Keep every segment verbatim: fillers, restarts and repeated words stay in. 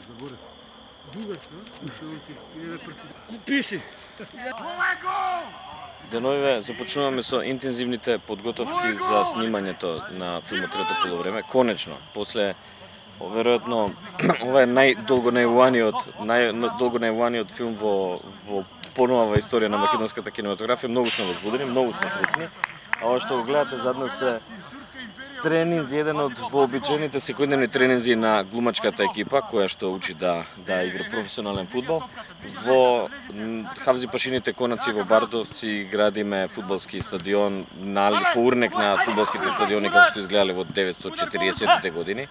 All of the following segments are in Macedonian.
заборев. Дугашка, што он си иде прстите. Пиши. Деновиве започнуваме со интензивните подготовки за снимањето на филмот Трето полувреме. Конечно, после веројатно ова е најдолго најуваниот, најдолго најуваниот филм во во поновава историја на македонската кинематографија. Многу сме возбудени, многу сме среќни. А ова што го гледате зад нас е тренинзи, еден од вообичаените секојдневни тренинзи на глумачката екипа која што учи да да игра професионален фудбал. Во Хавзи Пашините Конаци во Бардовци градиме фудбалски стадион на по урнек на фудбалските стадиони како што изгледале во деветстотини и четириесеттите години.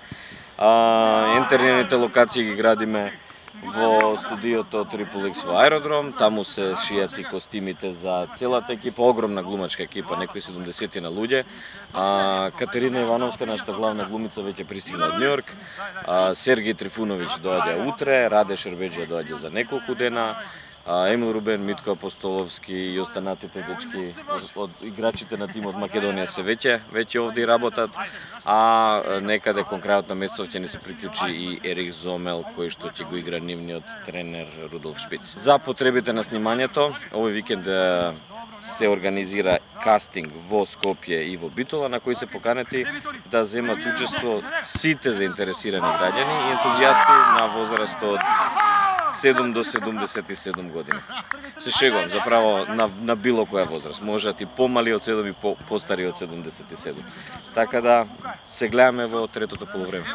А интерните локации ги градиме во студиото Triple X во Аеродром, таму се шијат и костимите за целата екипа, огромна глумачка екипа, некои седумдесет на луѓе. А, Катерина Ивановска, нашата главна глумица, веќе пристигна од Њујорк. Сергеј Трифуновиќ доаѓа утре, Раде Шербеџија доаѓа за неколку дена. Емил Рубен, Митко Апостоловски и останатите дечки од, од играчите на тимот Македонија се веќе веќе овде работат, а некаде кон крајот на месецот ќе ни се приклучи и Ерих Зомел кој што ќе го игра нивниот тренер Рудолф Шпиц. За потребите на снимањето, овој викенд се организира кастинг во Скопје и во Битола на кој се поканети да земат учество сите заинтересирани граѓани и ентузијасти на возраст од седум до седумдесет и седум години. Се шегувам, заправо на, на било која возраст. Можат и помали од седум и по, постари од седумдесет и седум. Така да се гледаме во третото полувреме.